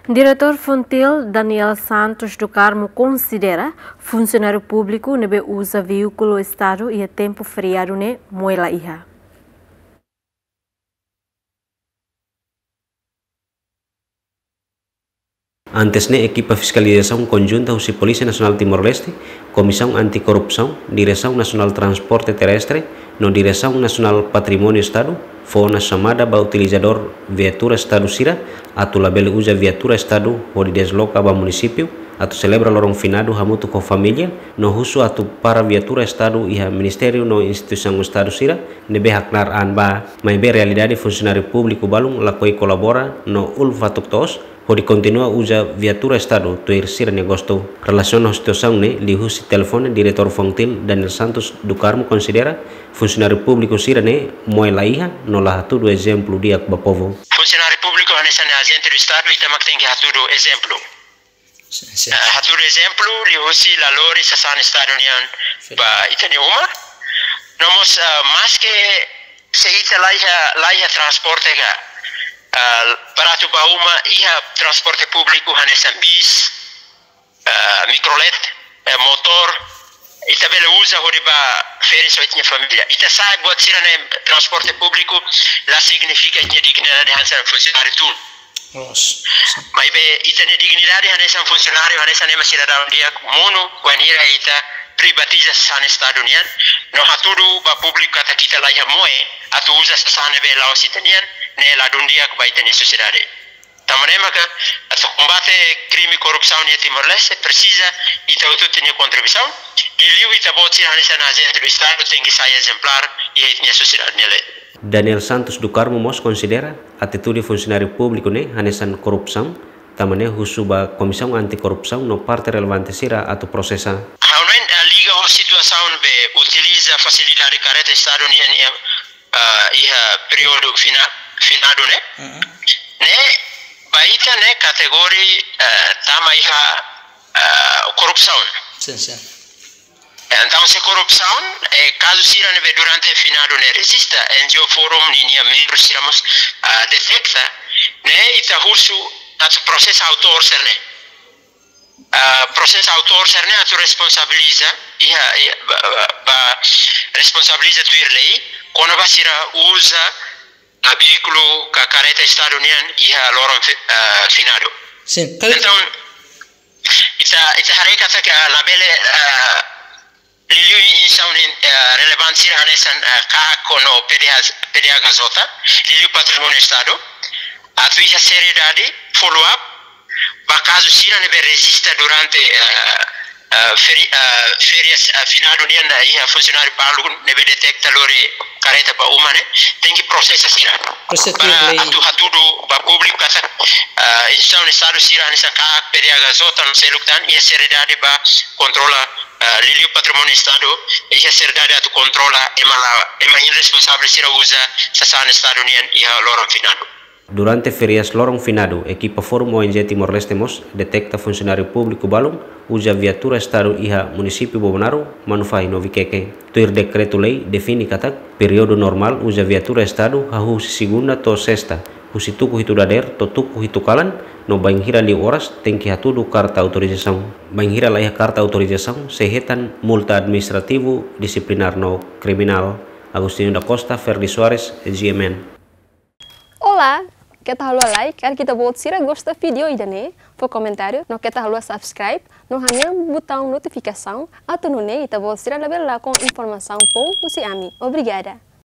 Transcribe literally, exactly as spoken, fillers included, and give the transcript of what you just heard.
Diretór Fontil, Daniel Santos do Carmo, konsidera funsionáriu públiku ne'ebé uza veíkulu Estadu iha tempu feriadu ne'e moe la iha. Antes ne'e, ekipa fiskalizasaun konjunta husi Polísia Nasionál Timor-Leste, Komisaun Anti-Korrupsaun, Diresaun Nasionál Transporte Terrestre, no Diresaun Nasionál Patrimóniu Estadu, fó ona xamada ba utilizadór viatura Estadu sira, atu labele uza viatura Estadu hodi desloka ba munisípiu, atu selebra loron finadu hamutuk ho família, no husu atu para viatura Estadu iha ministériu no instituisaun Estadu sira ne'ebé haknaar an ba. Maibé realidade, funsionáriu públiku balun lakohi kolabora no uluk fatuk toos hodi kontinua uza viatura Estadu tuir sira-nia gostu. Relasiona ho situasaun ne'e, liuhusi telefone, Diretór Fontil, Daniel Santos do Carmo, konsidera funsionáriu públiku sira-ne'e moe la iha no la hatudu ezemplu di'ak ba povu. Funsionáriu públiku hanesan ajente do Estadu, ita mak tenke hatudu ezemplu. Sin, sin. Ah, hatudu ezemplu liuhusi la lori sasán Estadu nian ba ita-nia uma. No mós, ah, maske se ita la iha, la iha transporte ka, ah, para atu ba uma iha transporte públiku hanesan bis, ah, mikrolet, eh, motór, ita bele uza hodi ba férias ho ita-nia família. Ita sa'e buat sira-ne'e, transporte públiku la signifika ita-nia dignidade hanesan funsionáriu tun. Loos. Maibé ita-nia dignidade hanesan funsionáriu, hanesan ema sidadaun di'ak monu, wainhira ita privatiza sasán Estadu nian, no hatudu ba públiku katak ita la iha moe atu uza sasán ne'ebé la'ós ita-nian, ne'e ladún di'ak ba ita-nia sosiedade. Tanba ne'e maka, atu kombate krime korrupsaun iha Timor-Leste, presiza ita hotu-hotu nia kontribuisaun. Liuliu ita-boot sira hanesan ajente do Estadu tenke sai ezemplár iha ita-nia sosiedade nia leet. Daniel Santos do Carmo mós konsidera atitude funsionáriu públiku ne'e hanesan korrupsaun, tanba ne'e husu ba Komisaun Anti-Korrupsaun no parte relevante sira atu prosesa. Ha'u hanoin, ah, liga ho situasaun be utiliza fasilidade karreta Estadu nian, nian, ah, iha períodu fina-, finadu ne'e. Mm-mm. Ne'e, ba ita ne'e kategoria, ah, tama iha, ah, korrupsaun. Sin, sin. Entaun, se korrupsaun, eh, kazu sira ne'ebé durante finadu ne'e rejista, N G O Forum ninia membru sira mós, ah, deteta, ne'e ita husu atu prosesa autór sira-ne'e. Ah, prosesa autór sira-ne'e atu responsabiliza, iha, iha, ba, ba, ba, responsabiliza tuir lei, kona-ba sira uza, ah, veíkulu ka karreta Estadu nian iha loron fi-, ah, finadu. Sin, kal- Entaun, ita, ita haree katak labele, ah, liuliu instituisaun, eh, relevante sira hanesan, eh, KAK no P D H, P D H K J, liuliu Patrimóniu Estadu, atu iha seriedade, follow up ba kazu sira ne'ebé rejista durante, eh, eh, feri-, eh, férias, eh, finadu nian, eh, iha funsionáriu balun ne'ebé deteta lori karreta ba uma ne'e, tenke prosesa sira. Prosesa. Para lei. Atu hatudu ba públiku katak, eh, instituisaun Estadu sira hanesan KAK, P D H K J no seluk tan iha seriedade ba kontrola, ah, liuliu patrimóniu Estadu, iha seriedade atu kontrola ema la, ema irresponsavel sira uza sasán Estadu nian iha loron finadu. Durante férias loron finadu, ekipa Forum O N G Timor-Leste mós deteta funsionáriu públiku balun uza viatura Estadu iha munisípiu Bobonaro, Manufahi no Vikeke. Tuir dekretu-lei define katak períodu normál uza viatura Estadu hahú husi segunda to'o sesta, husi tuku hitu dadeer to'o tuku hitu kalan, no bainhira liu oras tenke hatudu karta autorizasaun. Bainhira la iha karta autorizasaun, sei hetan multa administrativu, disiplinár no kriminál. Agostinho da Costa, Ferdi Soares, G M N. Olá, keta haluha like, karik ita-boot sira gosta vídeo ida-ne'e, fó komentáriu, no keta haluha subscribe, no hanehan butaun notifikasaun, atu nune'e ita-boot sira labele lakon informasaun foun husi ami. Obrigada.